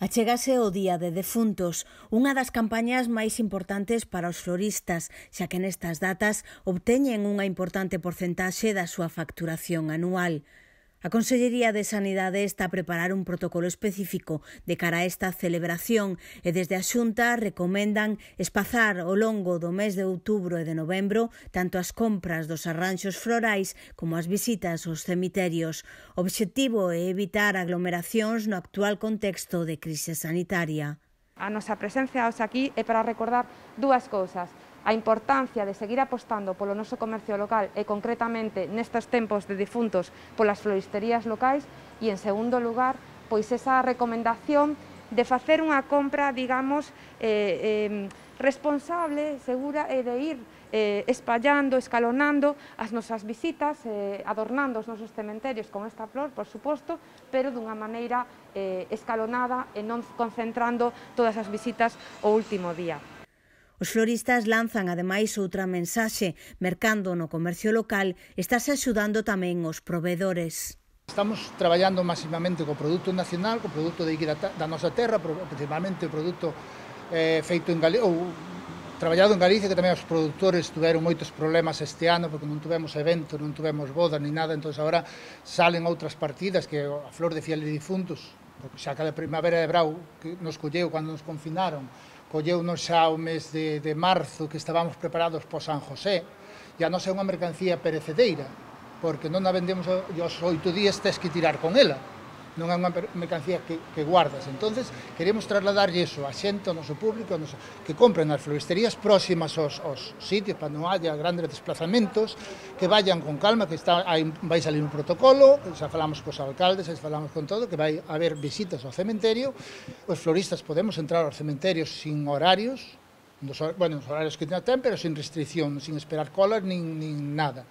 Achégase o Día de Defuntos, unha das campañas máis importantes para os floristas, xa que nestas datas obteñen unha importante porcentaxe da súa facturación anual. A Consellería de Sanidade está a preparar un protocolo específico de cara a esta celebración e desde a Xunta recomendan espazar ao longo do mes de outubro e de novembro tanto as compras dos arranxos florais como as visitas aos cemiterios. O obxectivo é evitar aglomeracións no actual contexto de crise sanitaria. A nosa presencia hoxe aquí é para recordar dúas cousas: a importancia de seguir apostando polo noso comercio local e concretamente nestes tempos de difuntos polas floristerías locais e, en segundo lugar, pois esa recomendación de facer unha compra, digamos, responsable, segura e de ir espallando, escalonando as nosas visitas, adornando os nosos cementerios con esta flor, por suposto, pero dunha maneira escalonada e non concentrando todas as visitas o último día. Os floristas lanzan ademais outra mensaxe: mercando no comercio local estáse axudando tamén os provedores. Estamos traballando máximamente co produto nacional, co produto de da nosa terra, principalmente o produto feito en Galicia, ou traballado en Galicia, que tamén os produtores tiveron moitos problemas este ano porque non tivemos eventos, non tivemos bodas ni nada, entón agora salen outras partidas que a flor de fieles difuntos, porque xa cada primavera de brau que nos colleu cando nos confinaron, colleunos xa o mes de marzo que estábamos preparados para San José, e a nosa é unha mercancía perecedereira, porque non a vendemos aos 8 días, tes que tirar con ela, non é unha mercancía que guardas. Entonces queremos trasladarlle iso a xente, ao noso público, que compren as floristerías próximas aos sitios para non haya grandes desplazamentos, que vayan con calma, que vai salir un protocolo, xa falamos cos alcaldes, xa falamos con todo, que vai haber visitas ao cementerio. Os floristas podemos entrar aos cementerios sin horarios, nos horarios que ten, pero sin restricción, sin esperar colas nin nada.